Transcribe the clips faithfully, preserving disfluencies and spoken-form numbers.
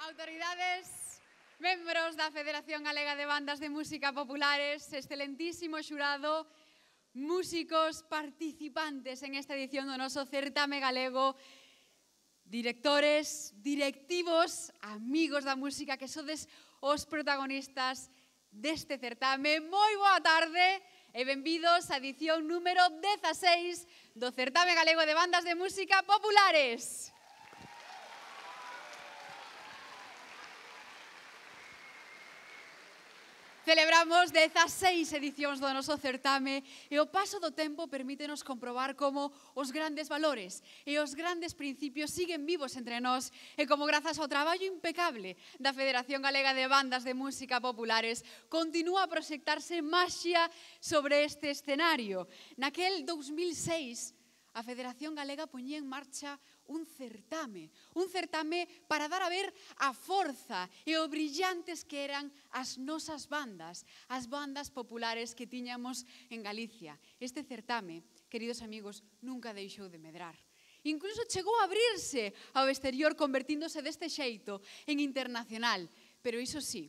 Autoridades, membros da Federación Galega de Bandas de Música Populares, excelentísimo xurado, músicos participantes en esta edición do noso certame galego, directores, directivos, amigos da música que sodes os protagonistas deste certame. Moi boa tarde e benvidos á edición número dezaseis do certame galego de Bandas de Música Populares. Celebramos dezaseis edicións do noso certame e o paso do tempo permítenos comprobar como os grandes valores e os grandes principios siguen vivos entre nós e como grazas ao traballo impecable da Federación Galega de Bandas de Música Populares continúa a proxectarse maxia sobre este escenario. Naquel dous mil seis, a Federación Galega poñía en marcha un certame, un certame para dar a ver a forza e o brillantes que eran as nosas bandas, as bandas populares que tiñamos en Galicia. Este certame, queridos amigos, nunca deixou de medrar. Incluso chegou a abrirse ao exterior convertíndose deste xeito en internacional, pero iso sí,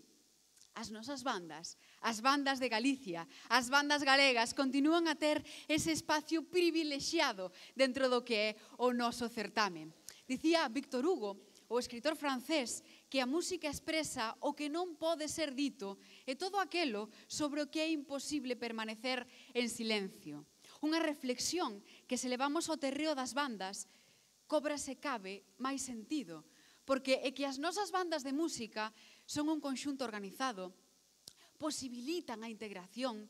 as nosas bandas, as bandas de Galicia, as bandas galegas continúan a ter ese espacio privilexiado dentro do que é o noso certame. Dicía Victor Hugo, o escritor francés, que a música expresa o que non pode ser dito e todo aquelo sobre o que é imposible permanecer en silencio. Unha reflexión que se levamos ao terreo das bandas cobra se cabe máis sentido, porque é que as nosas bandas de música son un conxunto organizado, posibilitan a integración,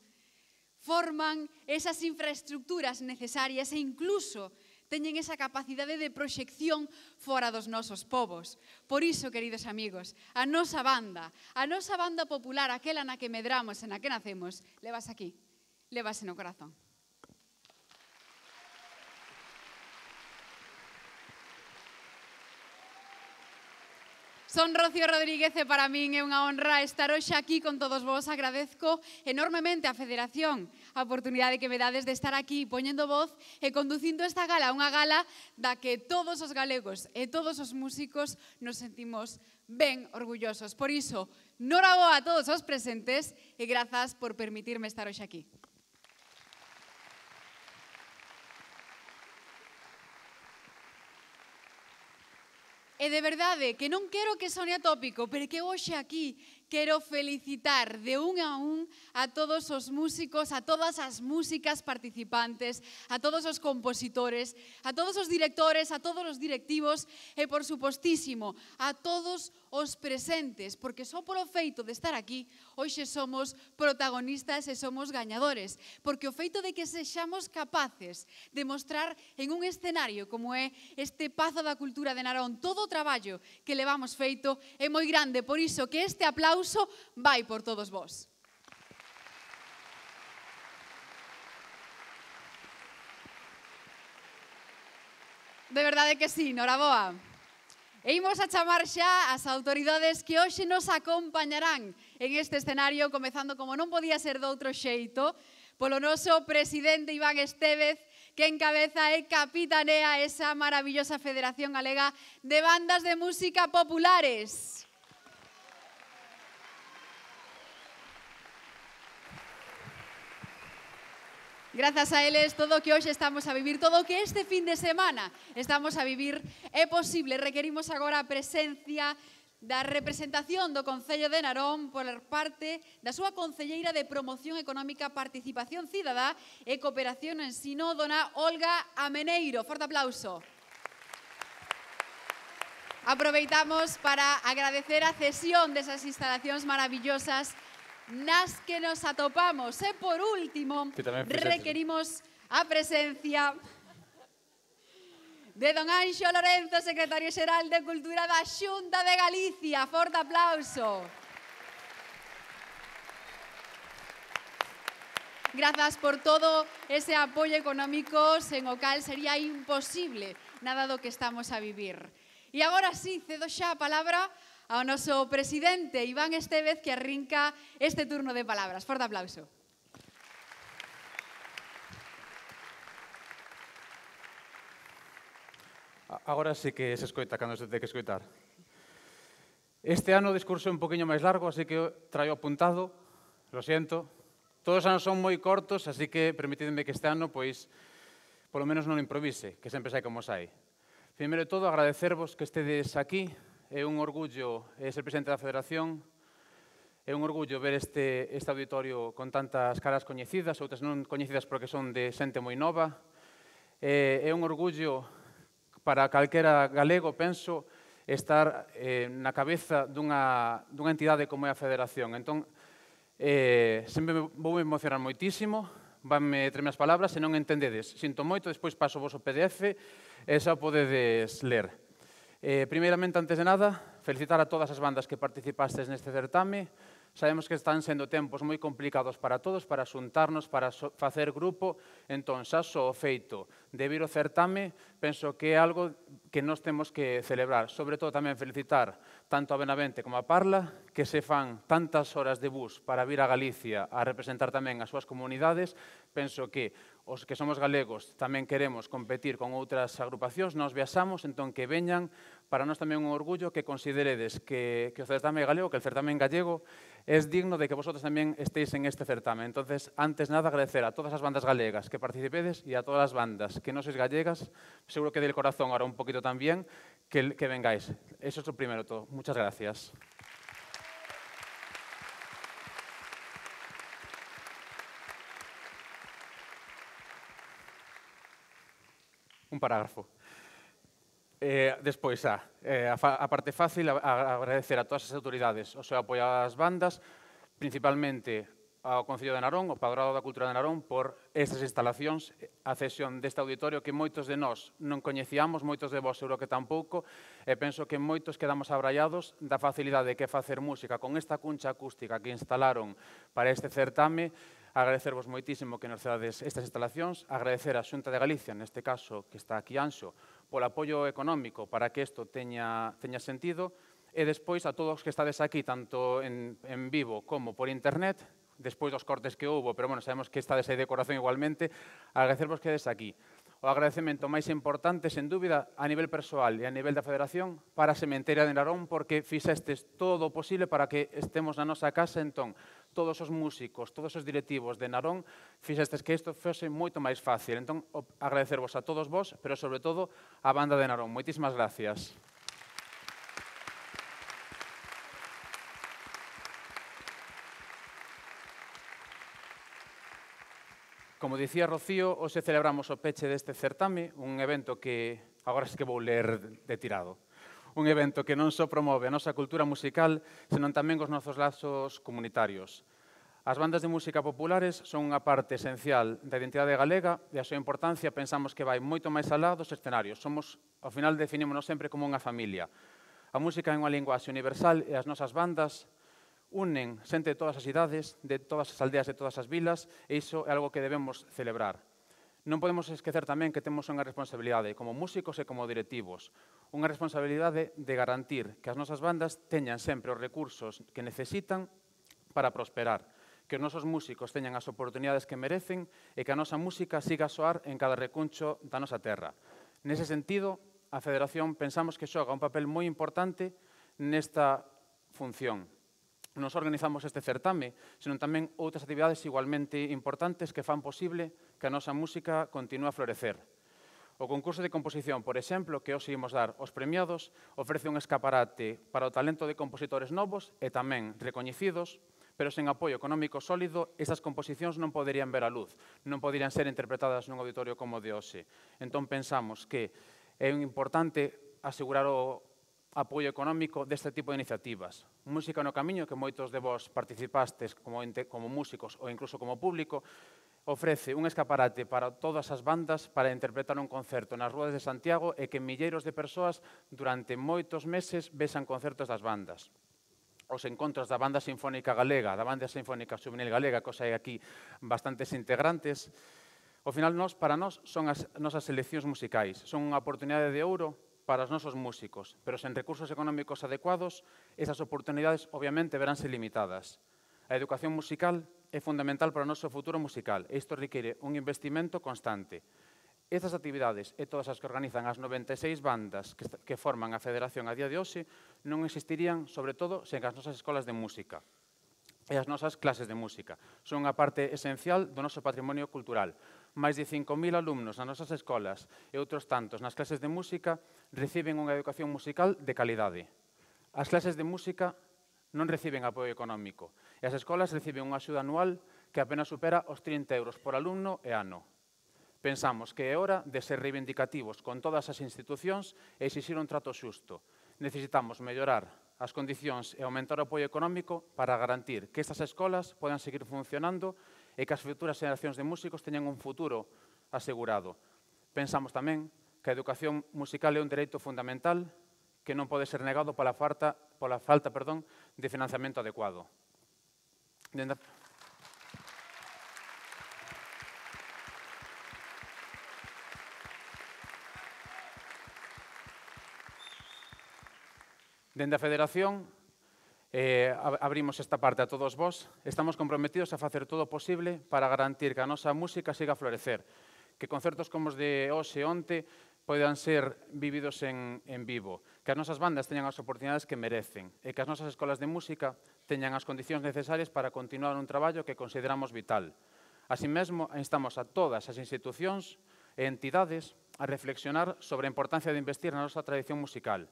forman esas infraestructuras necesarias e incluso teñen esa capacidade de proxección fora dos nosos povos. Por iso, queridos amigos, a nosa banda, a nosa banda popular, aquela na que medramos e na que nacemos, levas aquí, levas no corazón. Son Rocío Rodríguez e para min é unha honra estar hoxe aquí con todos vos. Agradezco enormemente á Federación a oportunidade que me dades de estar aquí poñendo voz e conducindo esta gala, unha gala da que todos os galegos e todos os músicos nos sentimos ben orgullosos. Por iso, noraboa a todos os presentes e grazas por permitirme estar hoxe aquí. E de verdade, que non quero que sone atópico, pero que hoxe aquí quero felicitar de un a un a todos os músicos, a todas as músicas participantes, a todos os compositores, a todos os directores, a todos os directivos e, por supostísimo, a todos os presentes, porque só polo feito de estar aquí, hoxe somos protagonistas e somos gañadores, porque o feito de que sexamos capaces de mostrar en un escenario como é este Pazo da Cultura de Narón todo o traballo que levamos feito é moi grande, por iso que este aplauso vai por todos vós. De verdade que sí, noraboa. E imos a chamar xa as autoridades que hoxe nos acompañarán en este escenario, comezando como non podía ser de outro xeito, polo noso presidente Iván Estévez, que encabeza e capitanea esa maravillosa Federación Galega de Bandas de Música Populares. Grazas a eles, todo o que hoxe estamos a vivir, todo o que este fin de semana estamos a vivir é posible. Requerimos agora a presencia da representación do Concello de Narón por parte da súa concelleira de Promoción Económica, Participación Cidadá e Cooperación no Ensino, dona Olga Ameneiro. Forte aplauso. Aproveitamos para agradecer a cesión desas instalacións maravillosas nas que nos atopamos. E, por último, requerimos a presencia de don Anxo Lorenzo, secretario xeral de Cultura da Xunta de Galicia. Forte aplauso. Grazas por todo ese apoio económico sen o cal sería imposible nada do que estamos a vivir. E agora sí, cedo xa a palabra ao noso presidente Iván Estévez, que arrinca este turno de palabras. Forte aplauso. Agora sí que se escoita cando se ten que escoitar. Este ano o discurso é un poquinho máis largo, así que traio apuntado, lo siento. Todos os anos son moi cortos, así que permitidme que este ano, pois, polo menos non improvise, que sempre sai como sai. Primeiro de todo, agradecervos que estedes aquí. É un orgullo ser presidente da Federación. É un orgullo ver este, este auditorio con tantas caras coñecidas, outras non coñecidas porque son de xente moi nova. É, é un orgullo para calquera galego, penso, estar eh, na cabeza dunha, dunha entidade como é a Federación. Entón, eh, sempre me, vou emocionar moitísimo, vanme tremer as palabras, se non entendedes. Sinto moito, despois paso vos o P D F e xa podedes ler. Eh, primeiramente, antes de nada, felicitar a todas as bandas que participastes neste certame. Sabemos que están sendo tempos moi complicados para todos, para xuntarnos, para so facer grupo. Entón, xa só o feito de vir ao certame, penso que é algo que nós temos que celebrar. Sobre todo, tamén felicitar tanto a Benavente como a Parla, que se fan tantas horas de bus para vir a Galicia a representar tamén as súas comunidades. Penso que os que somos galegos tamén queremos competir con outras agrupacións, nós viaxamos, entón que veñan. Para nós tamén un orgullo que consideredes que, que o certame galego, que el certame gallego, é digno de que vosotros tamén estéis en este certame. Entonces, antes nada, agradecer a todas as bandas galegas que participedes e a todas as bandas que non sois gallegas, seguro que del corazón ahora un poquito tamén, que, que vengáis. Eso é o primeiro todo. Muchas gracias. Un parágrafo. Eh, despois, ah, eh, a, a parte fácil, a, a agradecer a todas as autoridades o seu apoio ás bandas, principalmente ao Concello de Narón, ao Padroado da Cultura de Narón, por estas instalacións, a cesión deste auditorio que moitos de nós non coñecíamos, moitos de vós seguro que tampouco, e penso que moitos quedamos abraiados da facilidade que é facer música con esta cuncha acústica que instalaron para este certame. Agradecervos moitísimo que nos cedades estas instalacións, agradecer á Xunta de Galicia, neste caso, que está aquí Anxo, polo apoio económico para que isto teña, teña sentido, e despois a todos os que estades aquí, tanto en, en vivo como por internet, despois dos cortes que houve, pero bueno, sabemos que estades aí de corazón igualmente, agradecervos que edes aquí. O agradecemento máis importante, sen dúbida, a nivel persoal e a nivel da Federación, para a Sementeira de Narón, porque fixestes todo o posible para que estemos na nosa casa. Entón, todos os músicos, todos os directivos de Narón, fixestes que isto fose moito máis fácil. Entón, agradecervos a todos vos, pero sobre todo a banda de Narón. Moitísimas gracias. Como dicía Rocío, hoxe celebramos o peche deste certame, un evento que, agora sí que vou ler de tirado, un evento que non só promove a nosa cultura musical, senón tamén os nosos lazos comunitarios. As bandas de música populares son unha parte esencial da identidade galega e a súa importancia pensamos que vai moito máis alá dos escenarios. Somos, ao final, definímonos sempre como unha familia. A música é unha linguaxe universal e as nosas bandas unen xente de todas as idades, de todas as aldeas, de todas as vilas, e iso é algo que debemos celebrar. Non podemos esquecer tamén que temos unha responsabilidade como músicos e como directivos, unha responsabilidade de garantir que as nosas bandas teñan sempre os recursos que necesitan para prosperar, que os nosos músicos teñan as oportunidades que merecen e que a nosa música siga a soar en cada recuncho da nosa terra. Nese sentido, a Federación pensamos que xoga un papel moi importante nesta función. Non só organizamos este certame, senón tamén outras actividades igualmente importantes que fan posible que a nosa música continúe a florecer. O concurso de composición, por exemplo, que hoxe imos dar aos premiados, ofrece un escaparate para o talento de compositores novos e tamén recoñecidos, pero sen apoio económico sólido, estas composicións non poderían ver a luz, non poderían ser interpretadas nun auditorio como o de hoxe. Entón pensamos que é importante asegurar o apoio económico deste tipo de iniciativas. Música no Camiño, que moitos de vos participastes como, como músicos ou incluso como público, ofrece un escaparate para todas as bandas para interpretar un concerto nas rúas de Santiago e que milleiros de persoas durante moitos meses vexan concertos das bandas. Os encontros da Banda Sinfónica Galega, da Banda Sinfónica Xuvenil Galega, cosa hai aquí bastantes integrantes. Ao final, nós, para nós, son as nosas seleccións musicais. Son unha oportunidade de ouro para os nosos músicos, pero sen recursos económicos adecuados, esas oportunidades obviamente veránse limitadas. A educación musical é fundamental para o noso futuro musical e isto require un investimento constante. Estas actividades e todas as que organizan as noventa e seis bandas que, que forman a Federación a día de hoxe non existirían, sobre todo, sen as nosas escolas de música e as nosas clases de música. Son unha parte esencial do noso patrimonio cultural. Mais de cinco mil alumnos nas nosas escolas e outros tantos nas clases de música reciben unha educación musical de calidade. As clases de música non reciben apoio económico e as escolas reciben unha axuda anual que apenas supera os trinta euros por alumno e ano. Pensamos que é hora de ser reivindicativos con todas as institucións e exixir un trato xusto. Necesitamos mellorar as condicións e aumentar o apoio económico para garantir que estas escolas podan seguir funcionando e que as futuras xeracións de músicos teñan un futuro asegurado. Pensamos tamén que a educación musical é un dereito fundamental que non pode ser negado pola falta, pola falta perdón, de financiamento adecuado. Dende Dende a Federación, eh, abrimos esta parte a todos vós. Estamos comprometidos a facer todo o posible para garantir que a nosa música siga a florecer, que concertos como os de hoxe e onte poidan ser vividos en, en vivo, que as nosas bandas teñan as oportunidades que merecen e que as nosas escolas de música teñan as condicións necesarias para continuar un traballo que consideramos vital. Así mesmo, instamos a todas as institucións e entidades a reflexionar sobre a importancia de investir na nosa tradición musical.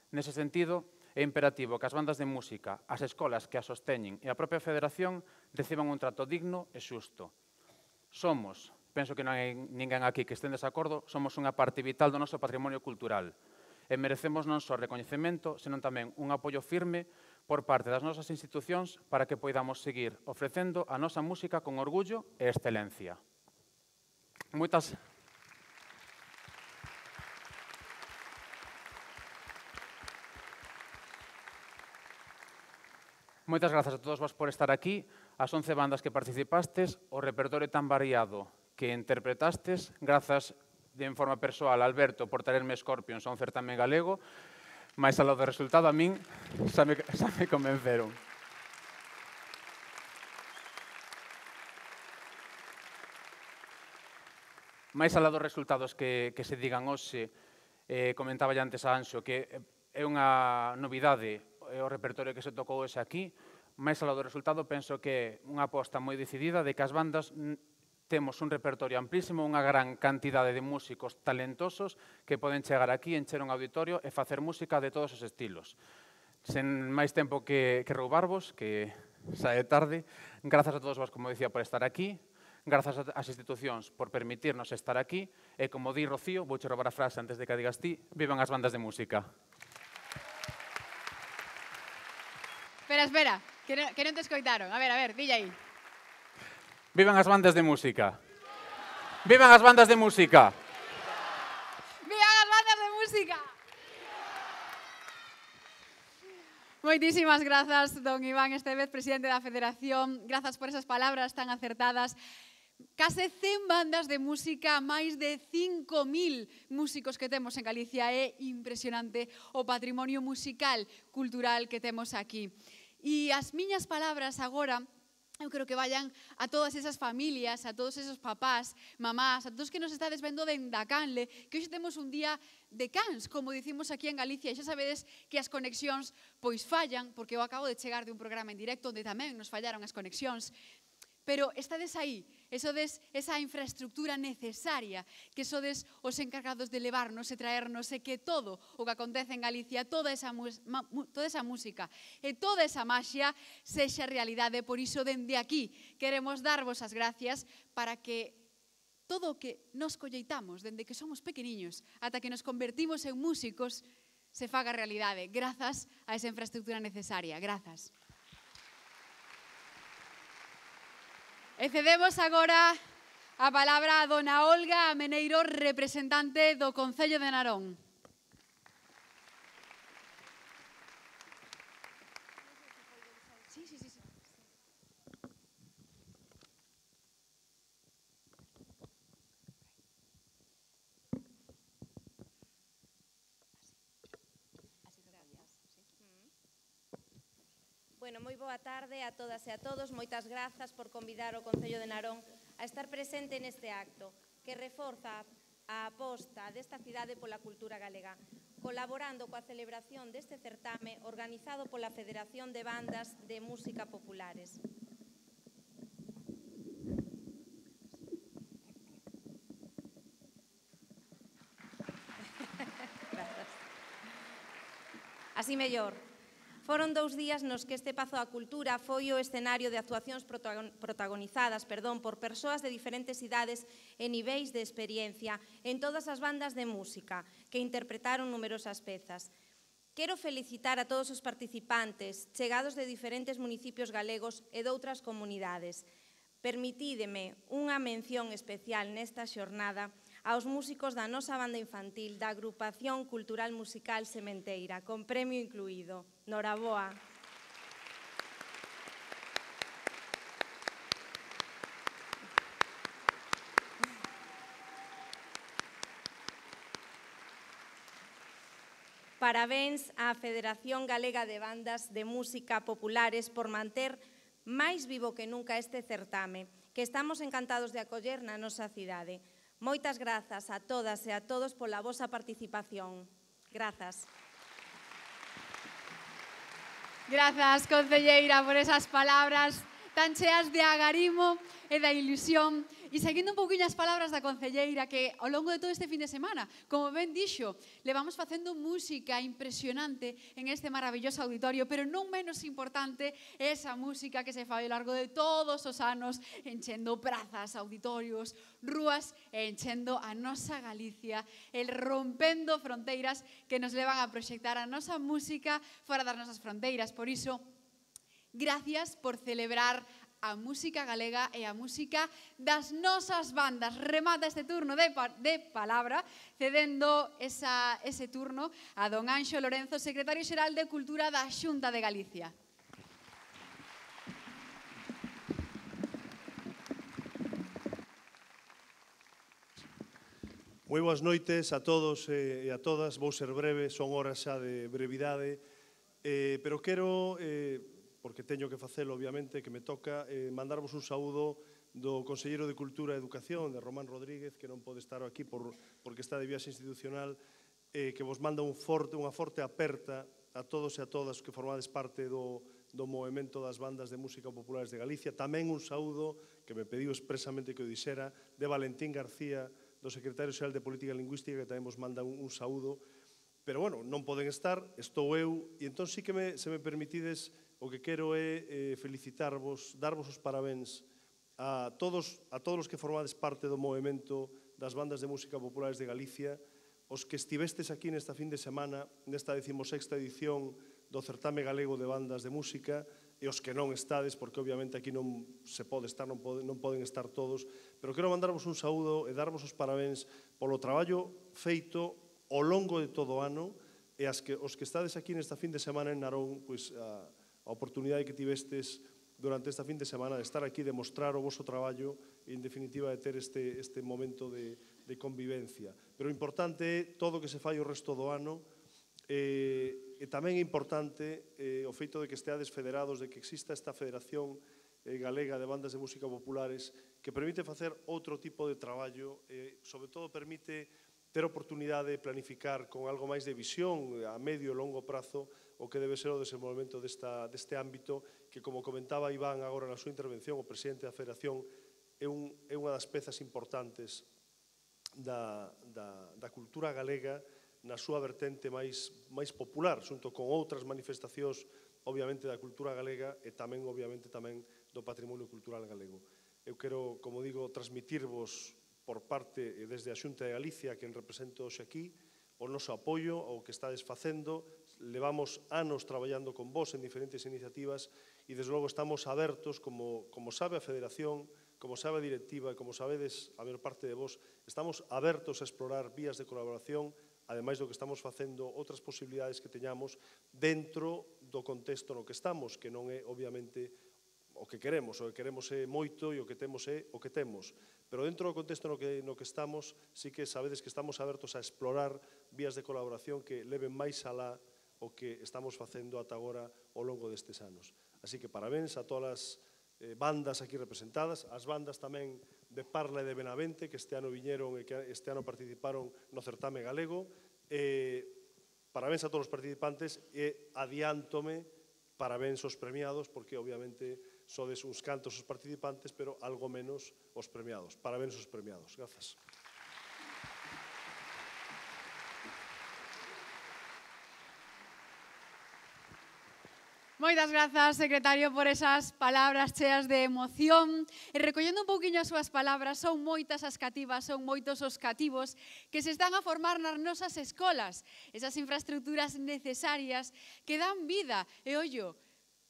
Nese sentido, é imperativo que as bandas de música, as escolas que as sosteñen e a propia Federación reciban un trato digno e xusto. Somos, penso que non hai ninguén aquí que este en desacordo, somos unha parte vital do noso patrimonio cultural e merecemos non só recoñecemento, senón tamén un apoio firme por parte das nosas institucións para que poidamos seguir ofrecendo a nosa música con orgullo e excelencia. Moitas Moitas grazas a todos vos por estar aquí, as once bandas que participastes, o repertorio tan variado que interpretastes, grazas de en forma persoal a Alberto por traerme Scorpions a un certame galego, máis aló do resultado a min xa me, xa me convenceron. máis alá dos resultados que, que se digan hoxe, eh, comentaba ya antes a Anxo, que é unha novidade o repertorio que se tocou hoxe aquí, máis alá do resultado, penso que é unha aposta moi decidida de que as bandas temos un repertorio amplísimo, unha gran cantidade de músicos talentosos que poden chegar aquí, encher un auditorio e facer música de todos os estilos. Sen máis tempo que, que roubarvos, que xa é tarde, grazas a todos vos, como dicía, por estar aquí, grazas ás institucións por permitirnos estar aquí, e como di Rocío, vouche roubar a frase antes de que a digas ti, vivan as bandas de música. Espera, espera, que non, que non te escoitaron. A ver, a ver, dille aí. Vivan as bandas de música. Vivan as bandas de música. Vivan as bandas de música. Moitísimas grazas, don Iván Estévez, presidente da Federación. Grazas por esas palabras tan acertadas. Case cen bandas de música, máis de cinco mil músicos que temos en Galicia. É impresionante o patrimonio musical, cultural que temos aquí. E as miñas palabras agora, eu creo que vayan a todas esas familias, a todos esos papás, mamás, a todos que nos estades vendo dende a canle, que hoxe temos un día de cans, como dicimos aquí en Galicia, e xa sabedes que as conexións pois fallan, porque eu acabo de chegar de un programa en directo onde tamén nos fallaron as conexións, pero estades aí, e sodes esa infraestructura necesaria, que sodes os encargados de levarnos e traernos, e que todo o que acontece en Galicia, toda esa, toda esa música e toda esa maxia sexa realidade. Por iso, dende aquí, queremos darvos as gracias para que todo o que nos colleitamos, dende que somos pequeniños, ata que nos convertimos en músicos, se faga realidade, grazas a esa infraestructura necesaria. Grazas. E cedemos agora a palabra a dona Olga Ameneiro, representante do Concello de Narón. Sí, sí, sí. Bueno, moi boa tarde a todas e a todos. Moitas grazas por convidar o Concello de Narón a estar presente neste acto, que reforza a aposta desta cidade pola cultura galega, colaborando coa celebración deste certame organizado pola Federación de Bandas de Música Populares. Así mellor. Foron dous días nos que este Pazo da Cultura foi o escenario de actuacións protagonizadas perdón, por persoas de diferentes idades e niveis de experiencia en todas as bandas de música que interpretaron numerosas pezas. Quero felicitar a todos os participantes, chegados de diferentes municipios galegos e doutras comunidades. Permitídeme unha mención especial nesta xornada aos músicos da nosa banda infantil da Agrupación Cultural Musical Sementeira, con premio incluído. Noraboa. Parabéns á Federación Galega de Bandas de Música Populares por manter máis vivo que nunca este certame, que estamos encantados de acoller na nosa cidade. Moitas grazas a todas e a todos pola vosa participación. Grazas. Grazas, concelleira, por esas palabras tan cheas de agarimo e da ilusión. E seguindo un pouquinho as palabras da concelleira, que ao longo de todo este fin de semana, como ben dixo, levamos facendo música impresionante en este maravilloso auditorio, pero non menos importante esa música que se fai ao largo de todos os anos, enchendo prazas, auditorios, rúas e enchendo a nosa Galicia, el rompendo fronteiras que nos levan a proxectar a nosa música fora das nosas fronteiras. Por iso, gracias por celebrar a música galega e a música das nosas bandas. Remata este turno de, pa de palabra, cedendo esa, ese turno a don Anxo Lorenzo, secretario xeral de Cultura da Xunta de Galicia. Moi boas noites a todos e a todas. Vou ser breve, son horas xa de brevidade, eh, pero quero... Eh, porque teño que facelo, obviamente, que me toca eh, mandarvos un saúdo do Conselleiro de Cultura e Educación, de Román Rodríguez, que non pode estar aquí por, porque está de viaxe institucional, eh, que vos manda un forte, unha forte aperta a todos e a todas que formades parte do, do movimento das bandas de música populares de Galicia. Tamén un saúdo, que me pediu expresamente que o dixera, de Valentín García, do Secretario Xeral de Política Lingüística, que tamén vos manda un, un saúdo. Pero, bueno, non poden estar, estou eu, e entón sí que me, se me permitides, o que quero é eh, felicitarvos, darvos os parabéns a todos, a todos os que formades parte do movimento das bandas de música populares de Galicia, os que estivestes aquí nesta fin de semana, nesta decimosexta edición do Certame Galego de Bandas de Música, e os que non estades, porque obviamente aquí non se pode estar, non, pode, non poden estar todos, pero quero mandarvos un saúdo e darvos os parabéns polo traballo feito ao longo de todo o ano, e as que, os que estades aquí nesta fin de semana en Narón, pois, a, a oportunidade que tivestes durante esta fin de semana de estar aquí, de mostrar o voso traballo e, en definitiva, de ter este, este momento de, de convivencia. Pero o importante é todo o que se fai o resto do ano, e, e tamén é importante eh, o feito de que esteades federados, de que exista esta Federación eh, Galega de Bandas de Música Populares, que permite facer outro tipo de traballo, e, sobre todo, permite ter oportunidade de planificar con algo máis de visión a medio e longo prazo o que debe ser o desenvolvemento desta, deste ámbito que, como comentaba Iván agora na súa intervención, o presidente da Federación, é, un, é unha das pezas importantes da, da, da cultura galega na súa vertente máis, máis popular, xunto con outras manifestacións, obviamente, da cultura galega e tamén, obviamente, tamén do patrimonio cultural galego. Eu quero, como digo, transmitirvos por parte, desde a Xunta de Galicia, que represento hoxe aquí, o noso apoio ao que estades facendo. Levamos anos traballando con vos en diferentes iniciativas e, desde logo, estamos abertos, como, como sabe a Federación, como sabe a directiva e como sabedes a maior parte de vos, estamos abertos a explorar vías de colaboración, ademais do que estamos facendo, outras posibilidades que teñamos dentro do contexto no que estamos, que non é, obviamente, o que queremos, o que queremos é moito e o que temos é o que temos. Pero dentro do contexto no que, no que estamos, sí que sabedes que estamos abertos a explorar vías de colaboración que leven máis alá o que estamos facendo ata agora ao longo destes anos. Así que parabéns a todas as eh, bandas aquí representadas, as bandas tamén de Parla e de Benavente, que este ano viñeron e que este ano participaron no certame galego. Eh, parabéns a todos os participantes e adiántome parabéns aos premiados, porque obviamente sodes uns cantos os participantes, pero algo menos os premiados. Parabéns aos premiados. Grazas. Moitas grazas, secretario, por esas palabras cheas de emoción. E recollendo un pouquiño as súas palabras, son moitas as cativas, son moitos os cativos que se están a formar nas nosas escolas. Esas infraestructuras necesarias que dan vida e, ollo,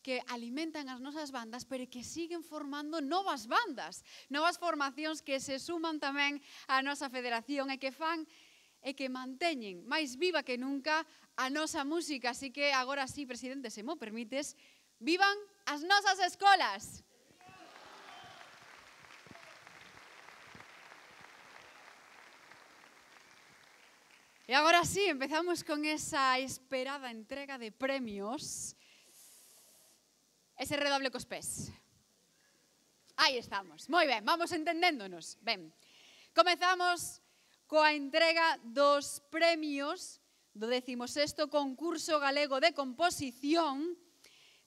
que alimentan as nosas bandas, pero que siguen formando novas bandas, novas formacións que se suman tamén á nosa federación e que fan e que manteñen máis viva que nunca a nosa música. Así que agora sí, presidente, se mo permites, vivan as nosas escolas! E agora sí, empezamos con esa esperada entrega de premios. Ese redoble cos pés. Aí estamos. Moi ben, vamos entendéndonos. Ben, comezamos coa entrega dos premios do décimo sexto concurso galego de composición.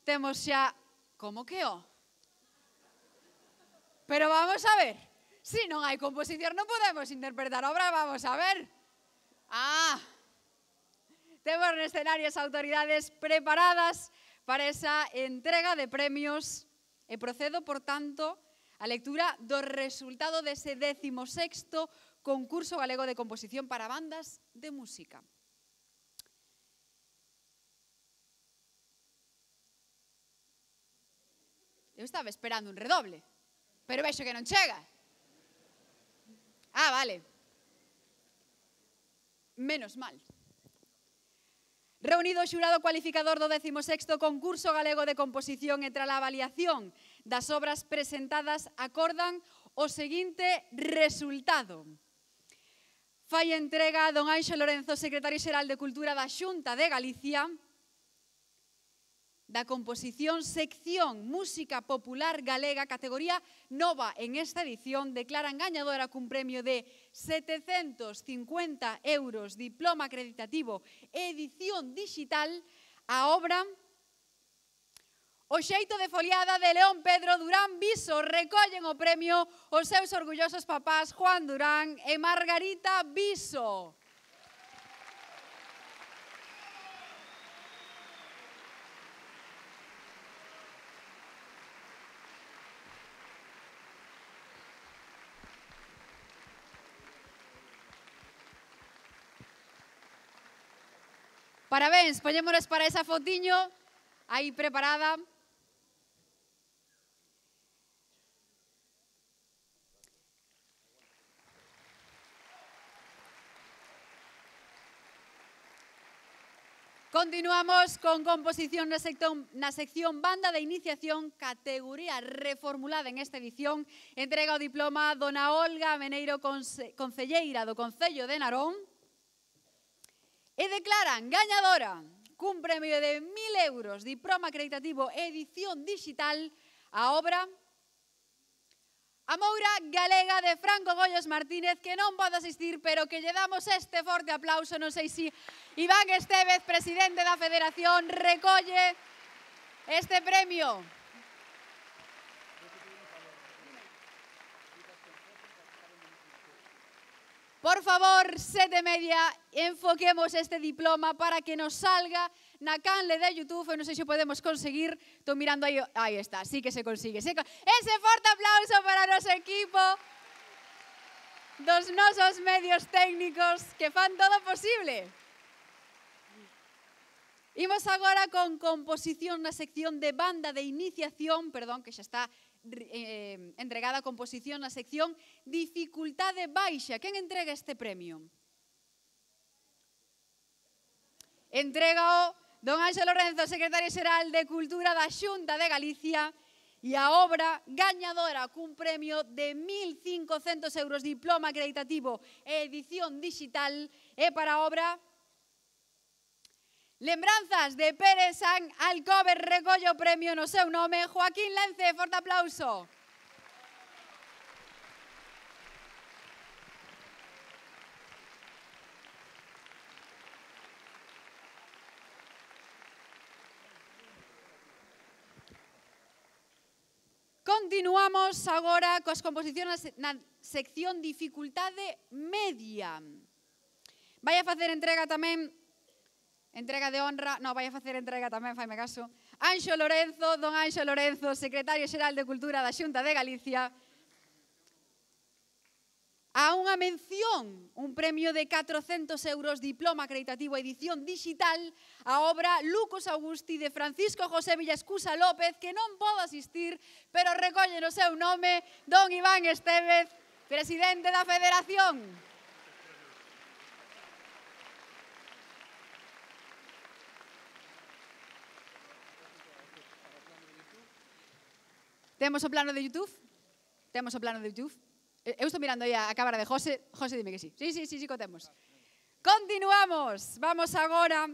Temos xa... Como que o? Pero vamos a ver. Se non hai composición non podemos interpretar obra, vamos a ver. Ah, temos no escenario as autoridades preparadas para esa entrega de premios e procedo, por tanto, a lectura do resultado dese décimo sexto concurso galego de composición para bandas de música. Eu estaba esperando un redoble, pero vexo que non chega. Ah, vale. Menos mal. Reunido o xurado cualificador do décimo sexto concurso galego de composición e tras a avaliación das obras presentadas acordan o seguinte resultado. Fai entrega a don Anxo Lorenzo, secretario xeral de Cultura da Xunta de Galicia, da composición sección Música Popular Galega, categoría nova en esta edición, declaran gañadora cun premio de setecentos cincuenta euros, diploma acreditativo, edición digital, a obra O xeito de foliada de León Pedro Durán Viso. Recollen o premio os seus orgullosos papás Juan Durán e Margarita Viso. Parabéns, poñémonos para esa fotiño aí preparada. Continuamos con composición na sección, na sección Banda de Iniciación, categoría reformulada en esta edición. Entrega o diploma dona Olga Meneiro, conce, concelleira do Concello de Narón. E declaran gañadora cun premio de mil euros, diploma acreditativo, edición digital, a obra A Moura Galega de Franco Gollos Martínez, que non pode asistir, pero que lle damos este forte aplauso. Non sei se Iván Estevez, presidente da Federación, recolle este premio. Por favor, sete e media, enfoquemos este diploma para que nos salga na canle de YouTube. Eu non sei se podemos conseguir. Estou mirando aí. Aí está, sí que se consigue. Ese forte aplauso para o noso equipo dos nosos medios técnicos que fan todo posible. Imos agora con composición na sección de Banda de Iniciación, perdón, que xa está eh, entregada a composición na sección Dificultade Baixa. Quen entrega este premio? Entregao don Anxo Lorenzo, secretario xeral de Cultura da Xunta de Galicia, e a obra gañadora cun premio de mil cincocentos euros, diploma acreditativo e edición digital, e para a obra Lembranzas de Pérez San Alcover. Recolle o premio no seu nome Joaquín Lence. Forte aplauso. Continuamos agora coas composicións na sección dificultade media. Vai a facer entrega tamén, entrega de honra, non, vai a facer entrega tamén, faime caso, Anxo Lorenzo, don Anxo Lorenzo, secretario xeral de Cultura da Xunta de Galicia, a unha mención, un premio de catrocentos euros, diploma acreditativo edición digital, a obra Lucus Augusti de Francisco José Villascusa López, que non podo asistir, pero recolle no seu nome don Iván Estévez, presidente da Federación. Temos o plano de YouTube? Temos o plano de YouTube? Eu estou mirando aí a cámara de José. José, dime que sí. Sí, sí, sí, sí, contemos. Continuamos. Vamos agora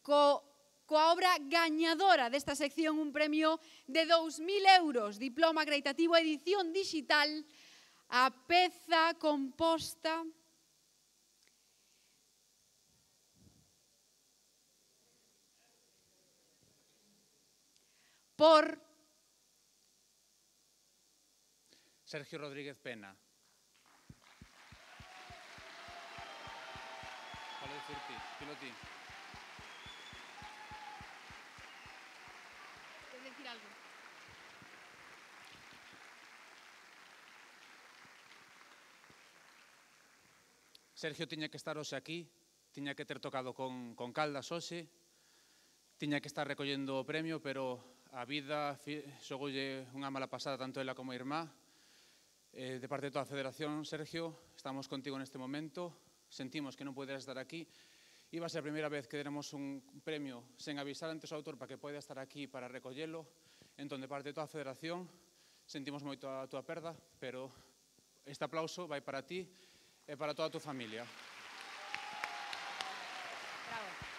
co, coa obra gañadora desta sección, un premio de dous mil euros, diploma acreditativo edición digital, a peza composta por Sergio Rodríguez Pena. Vale decir ti, dilo ti. ¿Quieres decir algo? Sergio tiña que estar hoxe aquí, tiña que ter tocado con, con Caldas hoxe, tiña que estar recollendo o premio, pero a vida xogoulle unha mala pasada tanto ela como a irmá. Eh, de parte de toda a Federación, Sergio, estamos contigo neste momento, sentimos que non poderas estar aquí. Iba a ser a primeira vez que deremos un premio sen avisar antes ao autor para que poida estar aquí para recollelo. Entón, de parte de toda a Federación, sentimos moito a túa perda, pero este aplauso vai para ti e para toda a túa familia. Bravo.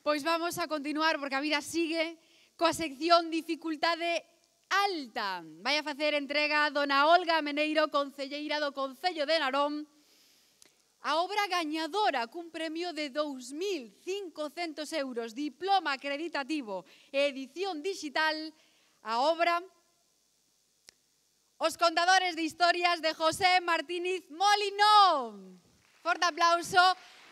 Pois vamos a continuar, porque a vida sigue, coa sección dificultade alta. Vai a facer entrega dona Olga Meneiro, concelleira do Concello de Narón, a obra gañadora cun premio de dous mil cincocentos euros, diploma acreditativo e edición digital, a obra Os contadores de historias de José Martínez Molinón. Forte aplauso.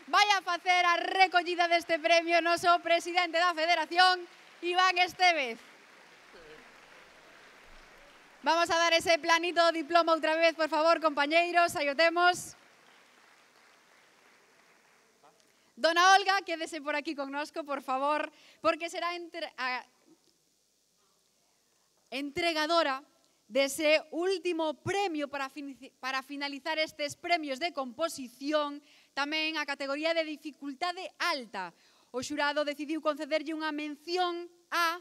Vai a facer a recollida deste premio o noso presidente da Federación, Iván Estévez. Vamos a dar ese planito diploma outra vez, por favor, compañeiros, aí o temos. Dona Olga, quédese por aquí connosco, por favor, porque será entre, a, entregadora dese último premio para, fin, para finalizar estes premios de composición, tamén a categoría de dificultade alta. O xurado decidiu concederlle unha mención a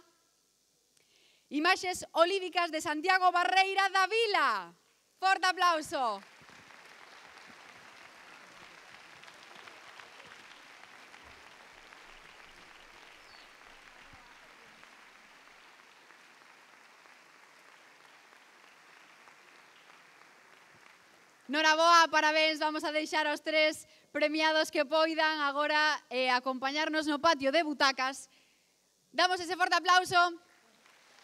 Imaxes Olívicas de Santiago Barreira da Vila. Forte aplauso. Noraboa, parabéns, vamos a deixar aos tres premiados que poidan agora eh, acompañarnos no patio de butacas. Damos ese forte aplauso.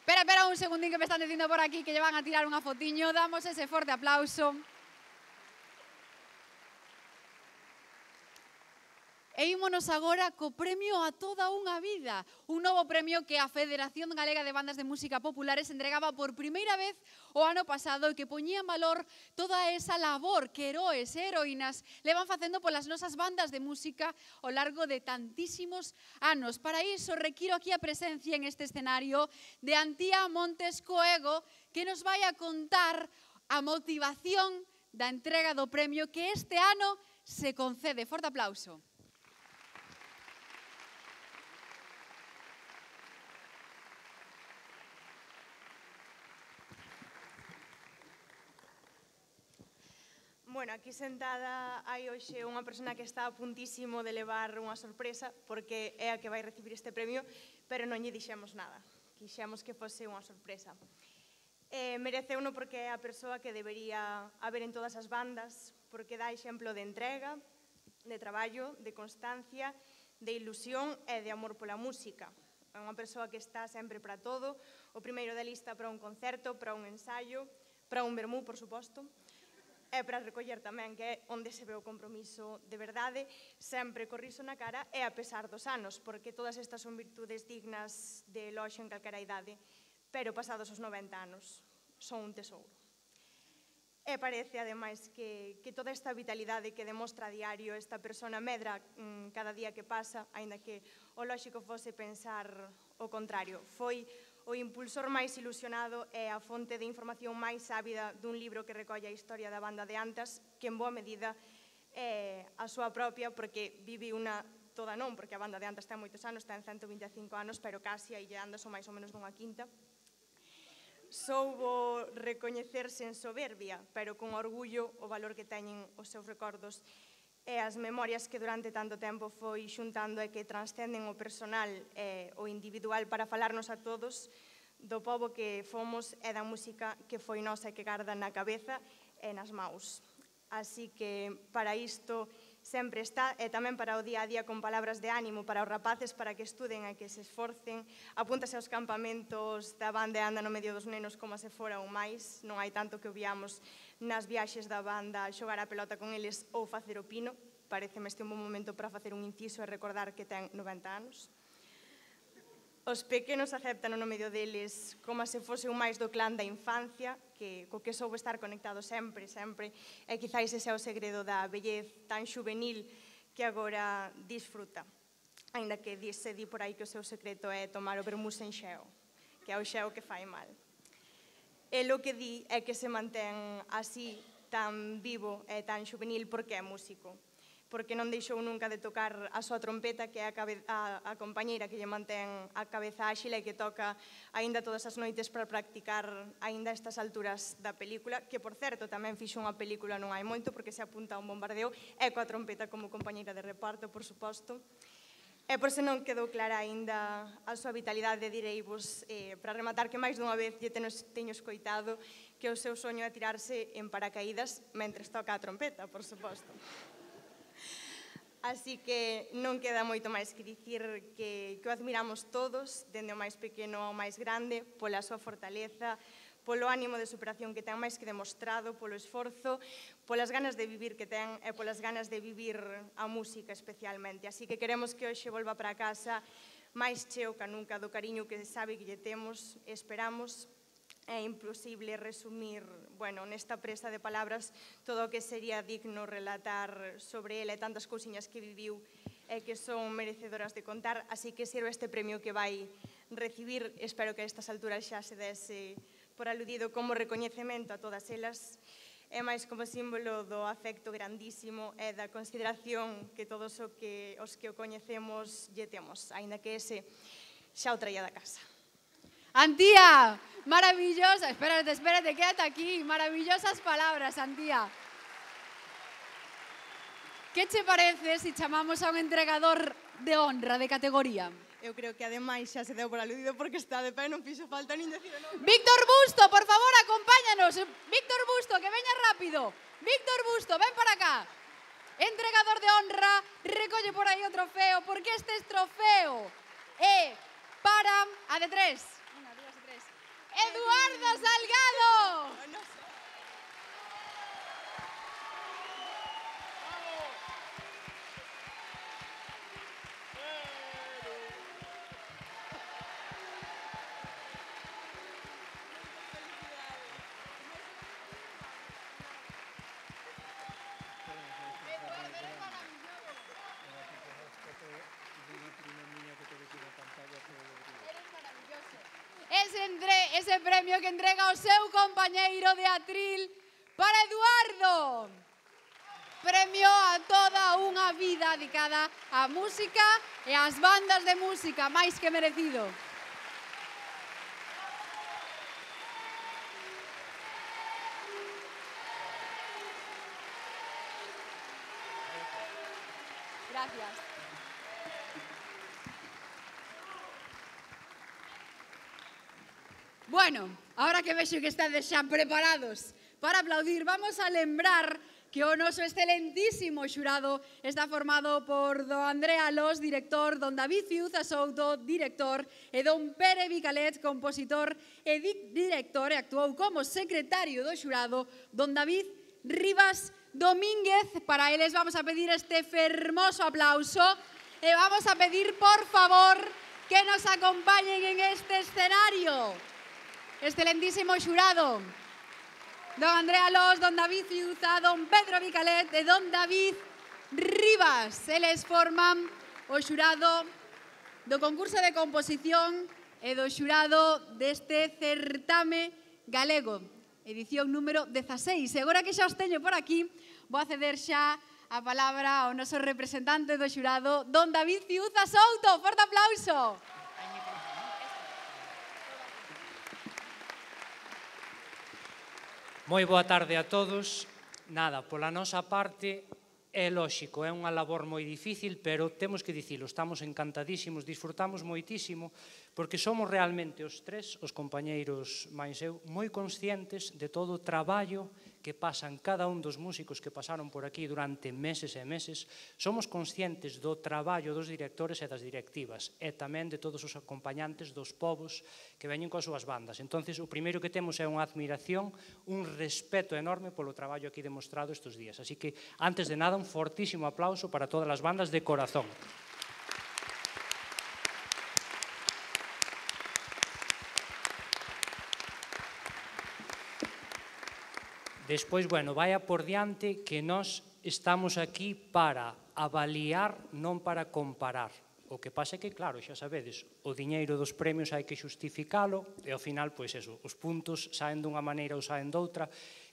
Espera, espera un segundín que me están dicindo por aquí que lle van a tirar unha fotiño. Damos ese forte aplauso. E ímonos agora co premio a toda unha vida. Un novo premio que a Federación Galega de Bandas de Música Populares entregaba por primeira vez o ano pasado e que poñía en valor toda esa labor que heroes e heroínas levan facendo polas nosas bandas de música ao largo de tantísimos anos. Para iso requiro aquí a presencia en este escenario de Antía Montes Coego, que nos vai a contar a motivación da entrega do premio que este ano se concede. Forte aplauso. Bueno, aquí sentada hai hoxe unha persona que está a puntísimo de levar unha sorpresa porque é a que vai recibir este premio, pero non lle dixemos nada. quixemos que fose unha sorpresa. Eh, mereceuno porque é a persoa que debería haber en todas as bandas, porque dá exemplo de entrega, de traballo, de constancia, de ilusión e de amor pola música. É unha persoa que está sempre para todo, o primeiro da lista para un concerto, para un ensaio, para un vermú, por suposto, e para recoller tamén, que é onde se ve o compromiso de verdade, sempre co riso na cara e a pesar dos anos, porque todas estas son virtudes dignas de eloxio en calquera idade, pero pasados os noventa anos son un tesouro. E parece, ademais, que, que toda esta vitalidade que demostra a diario esta persona medra mmm, cada día que pasa, aínda que o lóxico fose pensar o contrario. Foi o impulsor máis ilusionado e a fonte de información máis ávida dun libro que recolle a historia da banda de Antas, que en boa medida é a súa propia, porque vive unha toda non, porque a banda de Antas ten moitos anos, ten ciento vinte e cinco anos, pero casi aí lle anda son máis ou menos dunha quinta. Soubo recoñecerse en soberbia, pero con orgullo o valor que teñen os seus recordos e as memorias que durante tanto tempo foi xuntando e que transcenden o personal e o individual para falarnos a todos do pobo que fomos e da música que foi nosa e que garda na cabeza e nas maus. Así que para isto sempre está, e tamén para o día a día con palabras de ánimo para os rapaces para que estuden e que se esforcen. Apúntase aos campamentos da banda e anda no medio dos nenos como se fora un máis. Non hai tanto que obviamos nas viaxes da banda xogar a pelota con eles ou facer o pino. Pareceme este un bom momento para facer un inciso e recordar que ten noventa anos. Os pequenos aceptan no medio deles como se fose un máis do clan da infancia, que, co que soubo estar conectado sempre, sempre, e quizáis ese é o segredo da vellez tan juvenil que agora disfruta. Ainda que se di por aí que o seu secreto é tomar o vermú sen xeo, que é o xeo que fai mal. E lo que di é que se mantén así tan vivo e tan juvenil porque é músico, porque non deixou nunca de tocar a súa trompeta, que é a, a, a compañeira que lle mantén a cabeza áxil e que toca aínda todas as noites para practicar aínda estas alturas da película, que, por certo, tamén fixo unha película non hai moito, porque se apunta a un bombardeo, e coa trompeta como compañeira de reparto, por suposto. E por se non quedou clara aínda a súa vitalidade, direivos, eh, para rematar, que máis dunha vez lle teño escoitado que o seu soño é tirarse en paracaídas mentres toca a trompeta, por suposto. Así que non queda moito máis que dicir que, que o admiramos todos, dende o máis pequeno ao máis grande, pola súa fortaleza, polo ánimo de superación que ten máis que demostrado, polo esforzo, polas ganas de vivir que ten e polas ganas de vivir a música especialmente. Así que queremos que hoxe volva para casa máis cheo que nunca do cariño que sabe que lle temos, esperamos. É imposible resumir, bueno, nesta presa de palabras todo o que sería digno relatar sobre ele e tantas cousiñas que viviu e que son merecedoras de contar, así que sirve este premio que vai recibir, espero que a estas alturas xa se dese por aludido como recoñecemento a todas elas, e máis como símbolo do afecto grandísimo e da consideración que todos o que, os que o coñecemos lle temos, aínda que ese xa o traía da casa. Antía, maravillosa, espérate, espérate, quédate aquí, maravillosas palabras, Antía. Que che parece se chamamos a un entregador de honra, de categoría? Eu creo que ademais xa se deu por aludido porque está de pé, non fixo falta nin decir o nome. Víctor Busto, por favor, acompáñanos. Víctor Busto, que veña rápido. Víctor Busto, ven para acá. Entregador de honra, recolle por aí o trofeo, porque este es trofeo é para a de tres. Eduardo Salgado. Ese, entre, ese premio que entrega o seu compañeiro de atril para Eduardo. Premio a toda unha vida dedicada á música e ás bandas de música, máis que merecido. Gracias. Bueno, ahora que vexo que estades xa preparados para aplaudir, vamos a lembrar que o noso excelentísimo xurado está formado por don André Alós, director, don David Ciuza Souto, director, e don Pere Vicalet, compositor e director, e actuou como secretario do xurado, don David Rivas Domínguez. Para eles vamos a pedir este fermoso aplauso e vamos a pedir, por favor, que nos acompañen en este escenario. Excelentísimo xurado, don André Alós, don David Ciuza, don Pedro Vicalet e don David Rivas. Eles forman o xurado do concurso de composición e do xurado deste certame galego, edición número dezaseis. E agora que xa os teño por aquí, vou a ceder xa a palabra ao noso representante do xurado, don David Ciuza Souto. Forte aplauso. Moi boa tarde a todos. Nada, pola nosa parte, é lóxico, é unha labor moi difícil, pero temos que dicilo, estamos encantadísimos, disfrutamos moitísimo, porque somos realmente os tres, os compañeiros máis eu, moi conscientes de todo o traballo que pasan cada un dos músicos que pasaron por aquí durante meses e meses. Somos conscientes do traballo dos directores e das directivas, e tamén de todos os acompañantes dos povos que veñen coas súas bandas. Entonces, o primeiro que temos é unha admiración, un respeto enorme polo traballo aquí demostrado estes días. Así que, antes de nada, un fortísimo aplauso para todas as bandas de corazón. Despois, bueno, vaya por diante que nós estamos aquí para avaliar, non para comparar. O que pasa é que, claro, xa sabedes, o diñeiro dos premios hai que xustificalo e ao final, pois eso, os puntos saen dunha maneira ou saen doutra,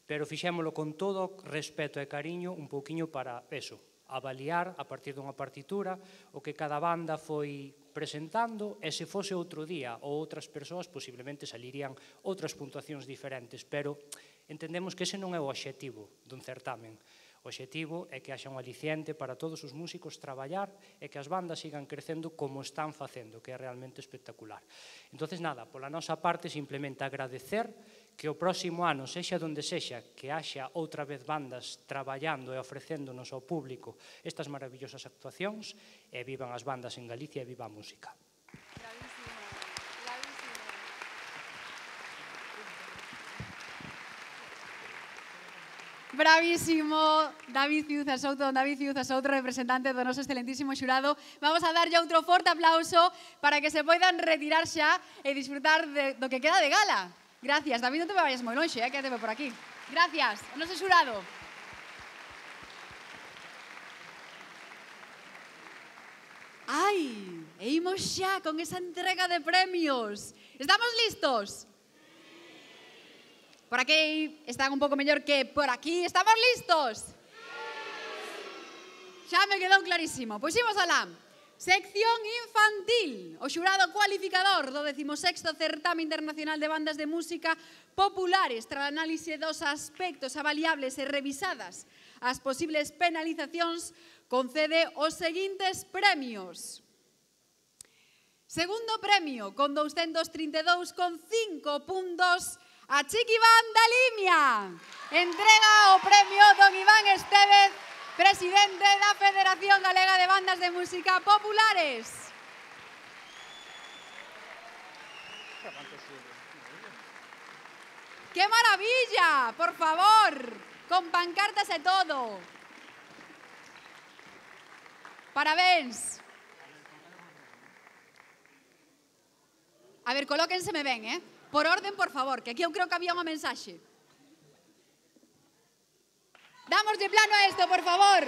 pero fixémolo con todo respeto e cariño un pouquiño para eso, avaliar a partir dunha partitura o que cada banda foi presentando, e se fose outro día ou outras persoas, posiblemente salirían outras puntuacións diferentes, pero entendemos que ese non é o obxectivo dun certamen. O obxectivo é que haxa un aliciente para todos os músicos traballar e que as bandas sigan crecendo como están facendo, que é realmente espectacular. Entonces, nada, pola nosa parte, simplemente agradecer que o próximo ano, sexa donde sexa, que haxa outra vez bandas traballando e ofrecéndonos ao público estas maravillosas actuacións, e vivan as bandas en Galicia e viva a música. Bravísimo, David Ciuza Souto, don David Ciuza Souto, representante do noso excelentísimo xurado. Vamos a darlle outro forte aplauso para que se poidan retirar xa e disfrutar de, do que queda de gala. Gracias. David, non te me vayas moi lonxe, eh, quédate por aquí. Gracias. O noso xurado. Ai, e imos xa con esa entrega de premios. Estamos listos? Por aquí están un pouco mellor que por aquí. Estamos listos? Xa me quedou clarísimo. Pois imos alá. Sección infantil. O xurado cualificador do decimosexto Certame Internacional de Bandas de Música Populares, tras análise dos aspectos avaliables e revisadas as posibles penalizacións, concede os seguintes premios. Segundo premio, con douscentos trinta e dous coma cinco puntos, a Chiqui Iván da Limia. Entrega o premio don Iván Estévez, presidente da Federación Galega de Bandas de Música Populares. ¡Qué maravilla! Por favor, con pancartas e todo. Parabéns. A ver, colóquenseme ben, eh? Por orden, por favor, que aquí eu creo que había unha mensaxe. Damos de plano a isto, por favor.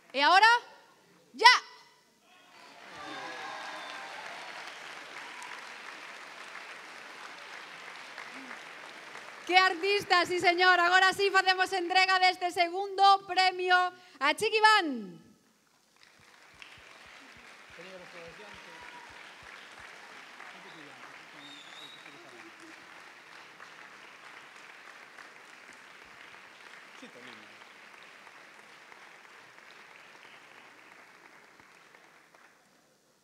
E agora, ya. Que artista, sí señor. Agora sí facemos entrega deste segundo premio a Chiqui Iván.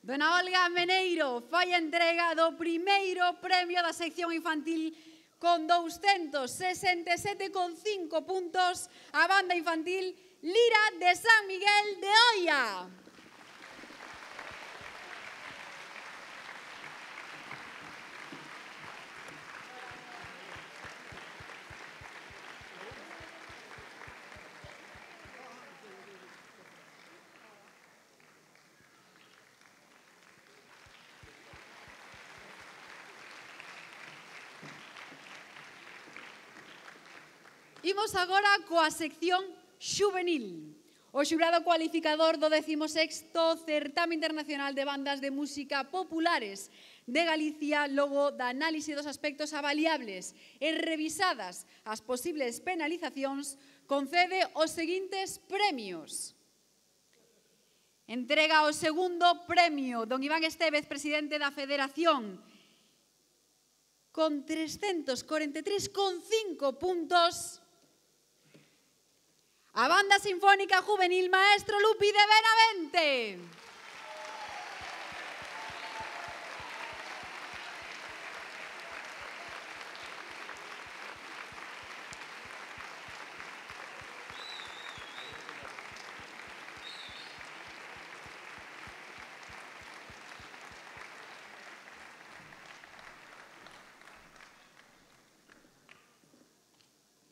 Dona Olga Meneiro fai a entrega do primeiro premio da sección infantil con doscientos sesenta e sete coma cinco puntos a banda infantil Lira de San Miguel de Oia. Imos agora coa sección xuvenil. O xurado cualificador do décimo sexto Certame Internacional de Bandas de Música Populares de Galicia, logo da análise dos aspectos avaliables e revisadas as posibles penalizacións, concede os seguintes premios. Entrega o segundo premio don Iván Estévez, presidente da Federación, con trescentos corenta e tres coma cinco puntos. A Banda Sinfónica Juvenil Maestro Lupi de Benavente.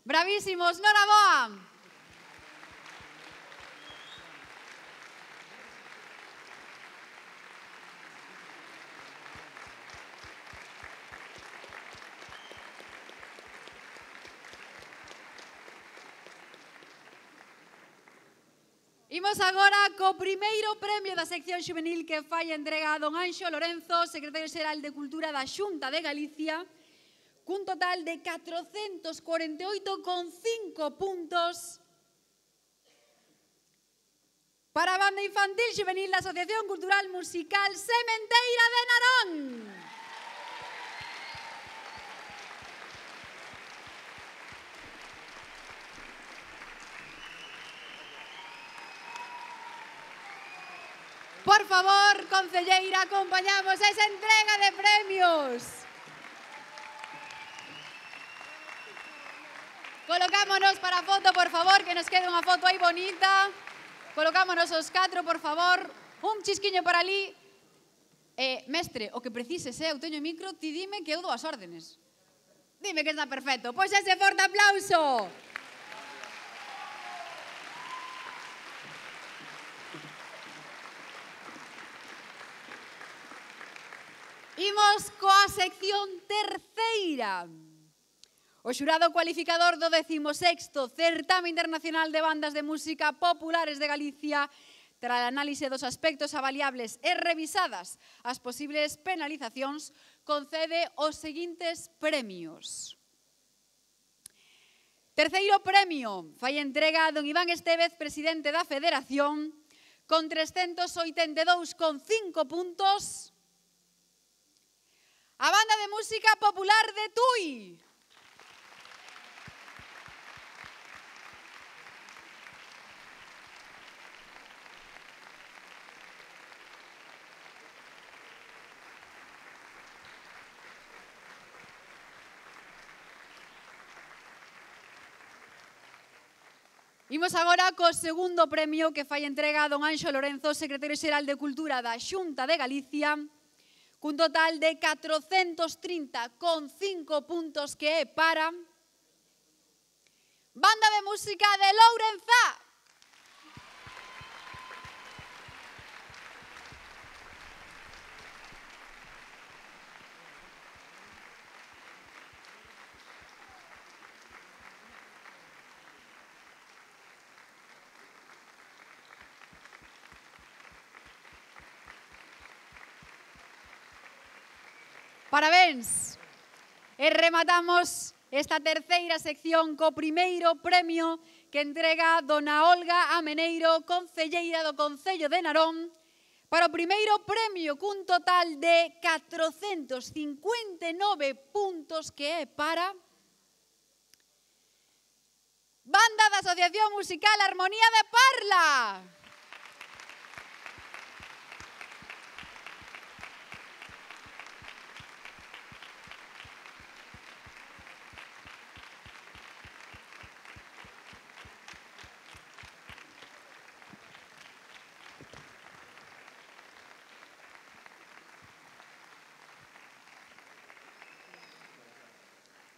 Bravísimos, noraboa. Imos agora co primeiro premio da sección xuvenil que fai a entrega a don Anxo Lorenzo, secretario xeral de Cultura da Xunta de Galicia, cun total de catrocentos corenta e oito coma cinco puntos para a Banda Infantil Xuvenil da Asociación Cultural Musical Sementeira de Narón. Por favor, concelleira, acompañamos esa entrega de premios. Colocámonos para a foto, por favor, que nos quede unha foto aí bonita. Colocámonos os catro, por favor. Un chisquiño por ali. Eh, mestre, o que precises, eh, eu teño micro, ti dime que eu dou as órdenes. Dime que está perfecto. Pois ese forte aplauso. Imos coa sección terceira. O xurado cualificador do décimo sexto Certame Internacional de Bandas de Música Populares de Galicia, tras a análise dos aspectos avaliables e revisadas as posibles penalizacións, concede os seguintes premios. Terceiro premio fai entrega a don Iván Estévez, presidente da Federación, con trescentos oitenta e dous coma cinco puntos. A Banda de Música Popular de Tui. Imos agora co segundo premio que fai entrega a don Anxo Lorenzo, secretario xeral de Cultura da Xunta de Galicia, cun total de catrocentos trinta coma cinco puntos que é para Banda de Música de Lourenzá. Parabéns! E rematamos esta terceira sección co primeiro premio que entrega dona Olga Ameneiro, concelleira do Concello de Narón, para o primeiro premio cun total de catrocentos cincuenta e nove puntos que é para Banda da Asociación Musical Armonía de Parla.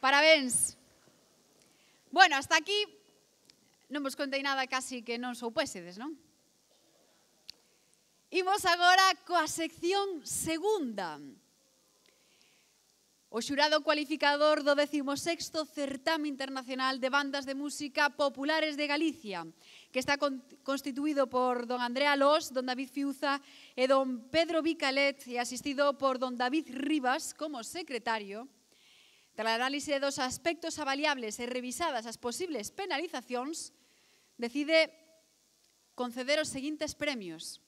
Parabéns. Bueno, hasta aquí non vos contei nada casi que non soupésedes, non? Imos agora coa sección segunda. O xurado cualificador do décimo sexto Certame Internacional de Bandas de Música Populares de Galicia, que está constituído por don Andrea Lós, don David Fiuza e don Pedro Vicalet e asistido por don David Rivas como secretario, tras a análise dos aspectos avaliables e revisadas as posibles penalizacións, decide conceder os seguintes premios.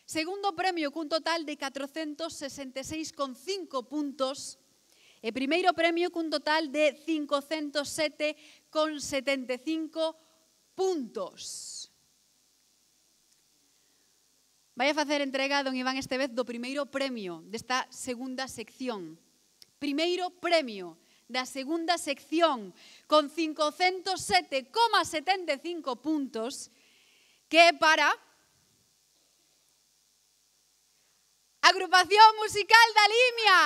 Segundo premio cun total de catrocentos sesenta e seis coma cinco puntos e primeiro premio cun total de cincocentos sete coma setenta e cinco puntos. Vai a facer entrega don Iván Estevez do primeiro premio desta segunda sección. Primeiro premio da segunda sección con cincocentos sete coma setenta e cinco puntos, que é para Agrupación Musical da Limia.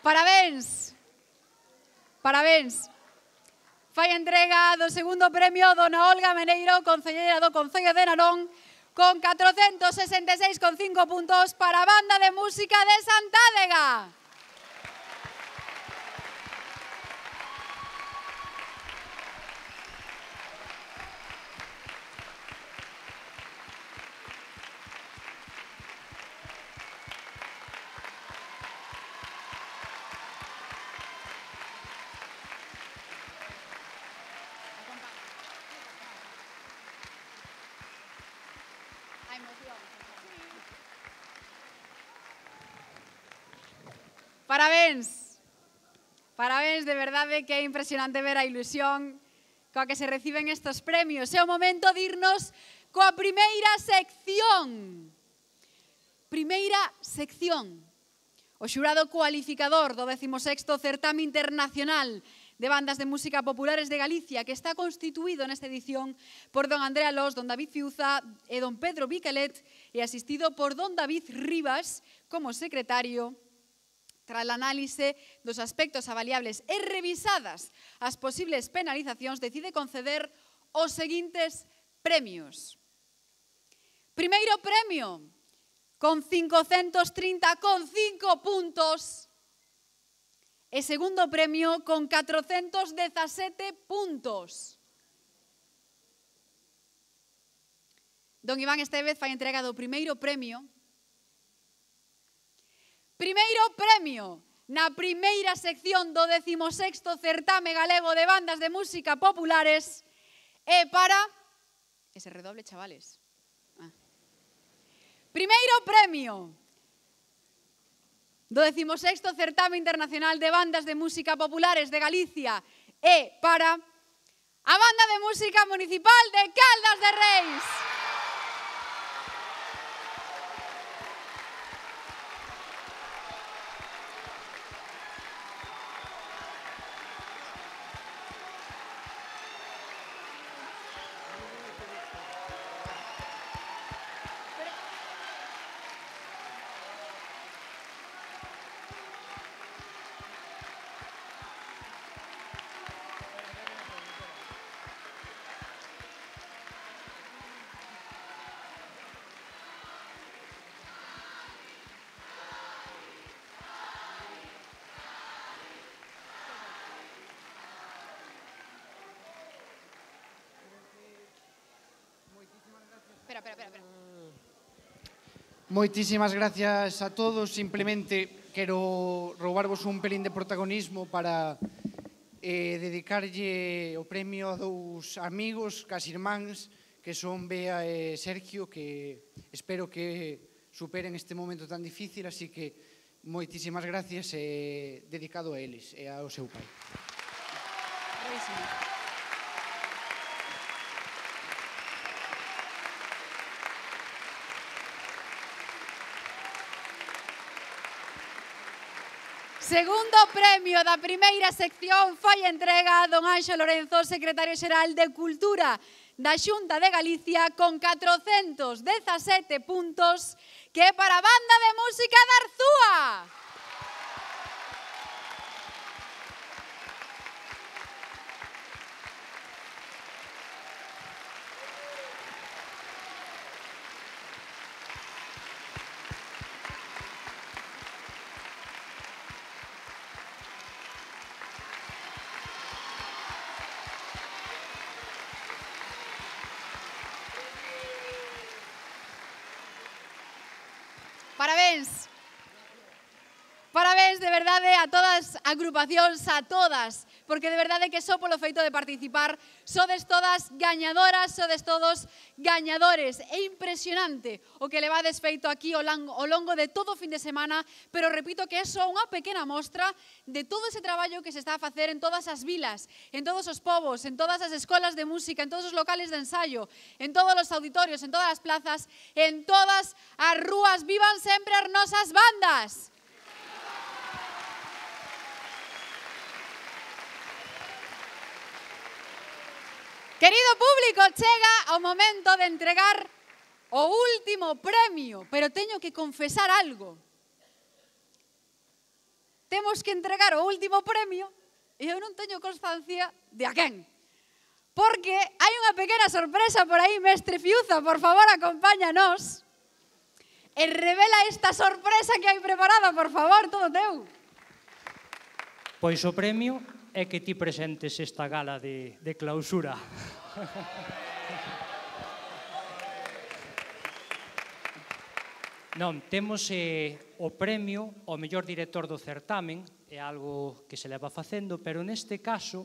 Parabéns. Parabéns. Fai entrega do segundo premio dona Olga Meneiro, concelleira do Concello de Narón, con catrocentos sesenta e seis coma cinco puntos para a Banda de Música de Santádega. Parabéns. Parabéns, de verdade que é impresionante ver a ilusión coa que se reciben estes premios. É o momento de irnos coa primeira sección. Primeira sección. O xurado cualificador do décimo sexto Certame Internacional de Bandas de Música Populares de Galicia, que está constituído nesta edición por don Andrea Lós, don David Fiuza e don Pedro Vicalet, e asistido por don David Rivas como secretario. Tras a análise dos aspectos avaliables e revisadas as posibles penalizacións, decide conceder os seguintes premios. Primeiro premio, con cincocentos trinta coma cinco puntos, e segundo premio, con catrocentos dezasete puntos. Don Iván Estevez fai entrega do primeiro premio. Primeiro premio na primeira sección do décimo sexto Certame Galego de Bandas de Música Populares é para... Ese redoble, chavales. Ah. Primeiro premio do décimo sexto Certame Internacional de Bandas de Música Populares de Galicia é para a Banda de Música Municipal de Caldas de Reis. Espera, espera, espera. Moitísimas gracias a todos. Simplemente quero roubarvos un pelín de protagonismo para eh, dedicarlle o premio a dous amigos, cas irmáns, que son Bea e Sergio, que espero que superen este momento tan difícil, así que moitísimas gracias e dedicado a eles e ao seu pai. Segundo premio da primeira sección foi entrega a don Anxo Lorenzo, secretario xeral de Cultura da Xunta de Galicia, con catrocentos dezasete puntos, que é para a Banda de Música de Arzúa. Parabéns. Parabéns de verdade a todas as agrupacións, a todas, porque de verdade que só polo feito de participar sodes todas gañadoras, sodes todos gañadores. É impresionante o que levades feito aquí ao longo de todo o fin de semana, pero repito que é só unha pequena mostra de todo ese traballo que se está a facer en todas as vilas, en todos os povos, en todas as escolas de música, en todos os locales de ensayo, en todos os auditorios, en todas as plazas, en todas as rúas. Vivan sempre as nosas bandas! Querido público, chega o momento de entregar o último premio, pero teño que confesar algo. Temos que entregar o último premio e eu non teño constancia de a quen. Porque hai unha pequena sorpresa por aí, mestre Fiuza, por favor, acompáñanos. E revela esta sorpresa que hai preparada, por favor, todo teu. Pois o premio é que ti presentes esta gala de, de clausura. Non, temos eh, o premio ao mellor director do certamen, é algo que se leva facendo, pero neste caso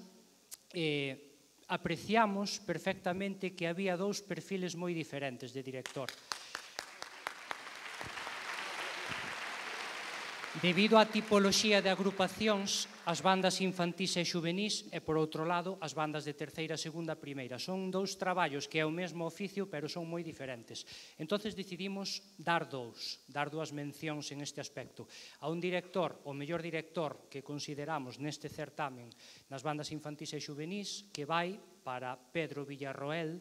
eh, apreciamos perfectamente que había dous perfiles moi diferentes de director. Debido á tipoloxía de agrupacións, as bandas infantís e xuvenís e, por outro lado, as bandas de terceira, segunda, primeira. Son dous traballos que é o mesmo oficio, pero son moi diferentes. Entonces decidimos dar dous, dar dúas mencións en este aspecto. A un director, o mellor director que consideramos neste certamen nas bandas infantís e xuvenís, que vai para Pedro Villarroel,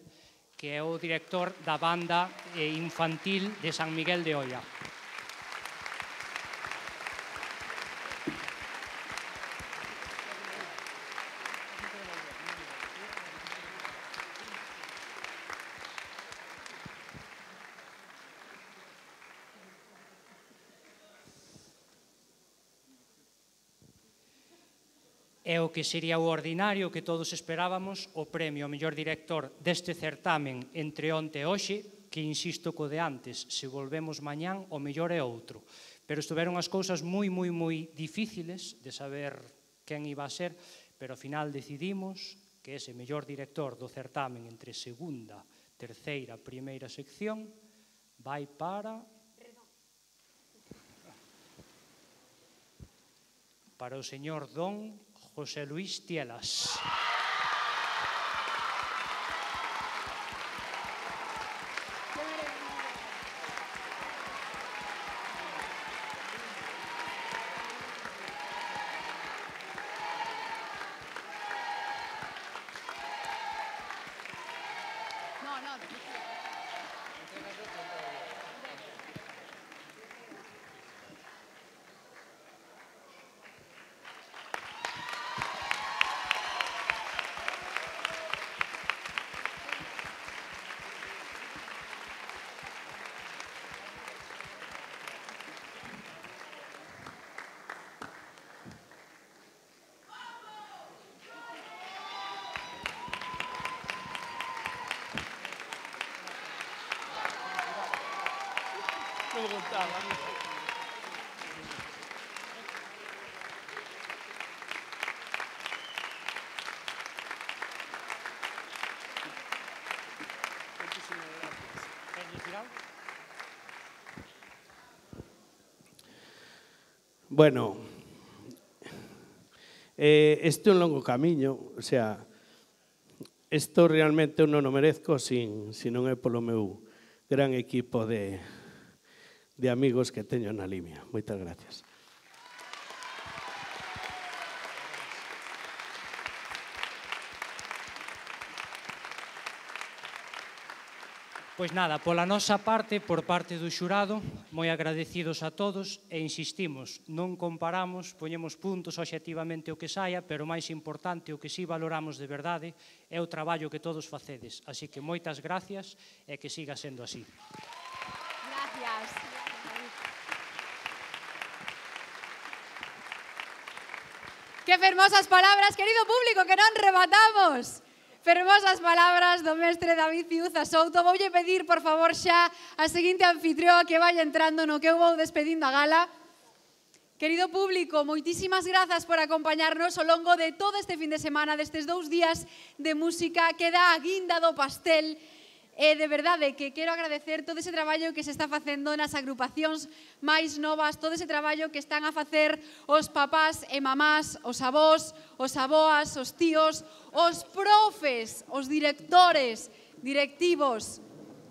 que é o director da banda infantil de San Miguel de Oia. É o que sería o ordinario que todos esperábamos, o premio ao mellor director deste certamen entre onte e hoxe, que insisto co de antes, se volvemos mañán, o mellor é outro. Pero estuveron as cousas moi, moi, moi difíciles de saber quen iba a ser, pero ao final decidimos que ese mellor director do certamen entre segunda, terceira, primeira sección vai para... para o señor Don José Luis Tielas. No, no. Bueno, eh, este é un longo camiño, o sea, isto realmente eu non o merezco sin, sin non é polo meu gran equipo de, de amigos que teño na Limia. Moitas gracias. Pois nada, pola nosa parte, por parte do xurado, moi agradecidos a todos e insistimos, non comparamos, poñemos puntos obxectivamente o que saia, pero o máis importante, o que sí valoramos de verdade, é o traballo que todos facedes. Así que moitas gracias e que siga sendo así. Gracias. Que fermosas palabras, querido público, que non rematamos. Fermosas palabras do mestre David Ciuza Souto. Voulle pedir, por favor, xa a seguinte anfitrión que vaya entrando no que eu vou despedindo a gala. Querido público, moitísimas grazas por acompañarnos ao longo de todo este fin de semana, destes dous días de música que dá a guinda do pastel. E de verdade que quero agradecer todo ese traballo que se está facendo nas agrupacións máis novas, todo ese traballo que están a facer os papás e mamás, os avós, os aboas, os tíos, os profes, os directores, directivos,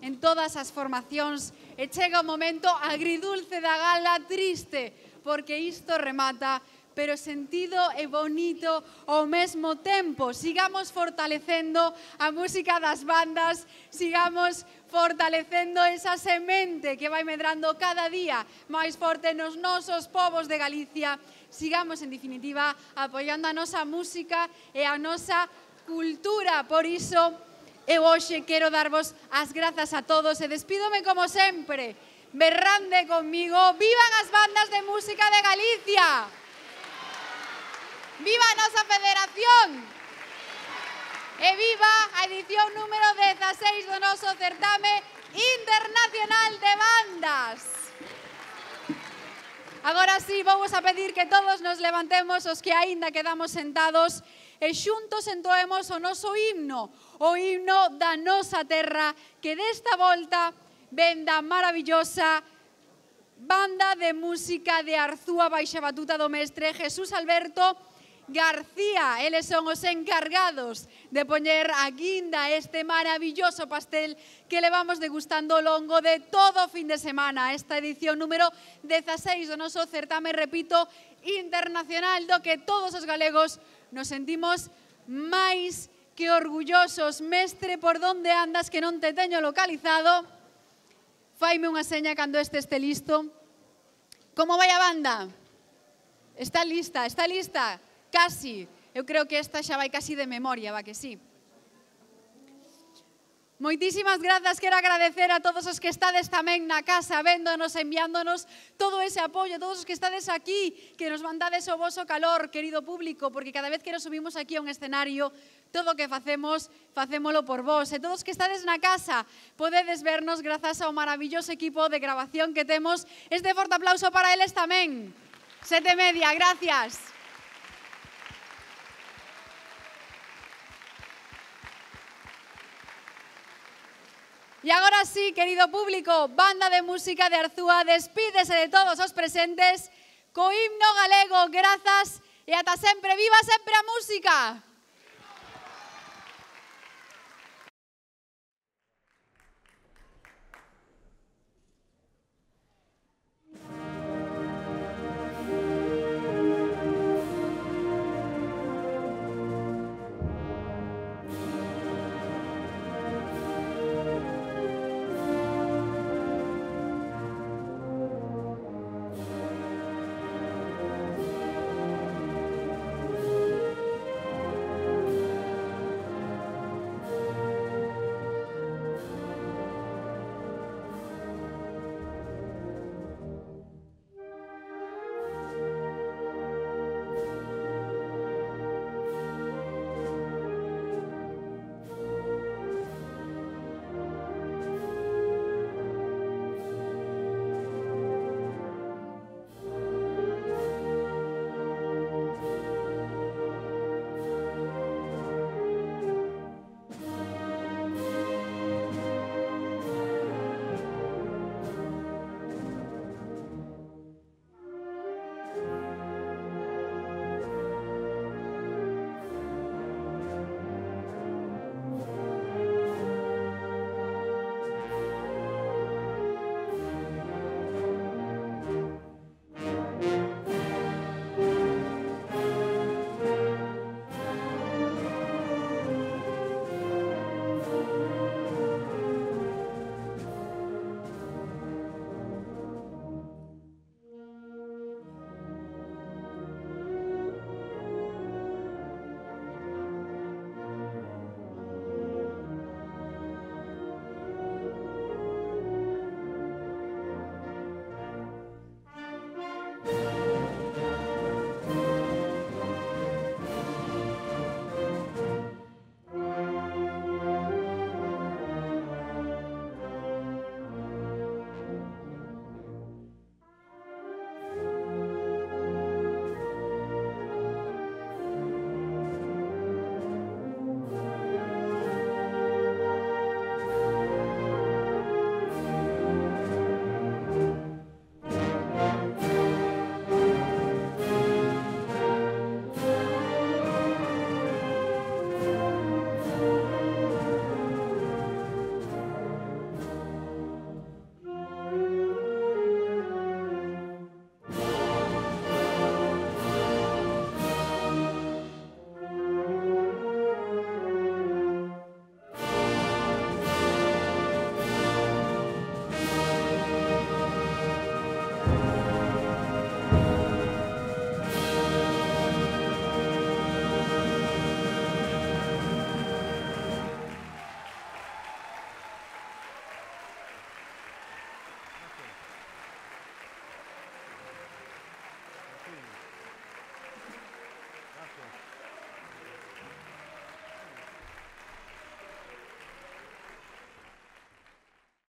en todas as formacións. E chega o momento agridulce da gala, triste, porque isto remata, pero sentido e bonito ao mesmo tempo. Sigamos fortalecendo a música das bandas, sigamos fortalecendo esa semente que vai medrando cada día máis forte nos nosos povos de Galicia. Sigamos, en definitiva, apoiando a nosa música e a nosa cultura. Por iso, eu hoxe quero darvos as grazas a todos e despídome como sempre. Berrande conmigo, vivan as bandas de música de Galicia! Viva a nosa federación! E viva a edición número dezaseis do noso certame internacional de bandas! Agora sí, vamos a pedir que todos nos levantemos os que aínda quedamos sentados e xuntos entoemos o noso himno, o himno da nosa terra, que desta volta ven da maravillosa banda de música de Arzúa baixa batuta do mestre Jesús Alberto García. Eles son os encargados de poñer a guinda este maravilloso pastel que levamos degustando ao longo de todo o fin de semana. Esta edición número dezaseis do noso certame, repito, internacional, do que todos os galegos nos sentimos máis que orgullosos. Mestre, por donde andas que non te teño localizado? Faime unha seña cando este este listo. Como vai a banda? Está lista, está lista? Casi. Eu creo que esta xa vai casi de memoria, va que sí. Moitísimas grazas, quero agradecer a todos os que estades tamén na casa, véndonos, enviándonos todo ese apoio, todos os que estades aquí, que nos mandades o voso calor, querido público, porque cada vez que nos subimos aquí a un escenario, todo o que facemos, facémolo por vos. E todos que estades na casa, podedes vernos grazas ao maravilloso equipo de grabación que temos. Este forte aplauso para eles tamén. Sete media, gracias. E agora sí, querido público, banda de música de Arzúa, despídese de todos os presentes co himno galego. Grazas e ata sempre. Viva sempre a música!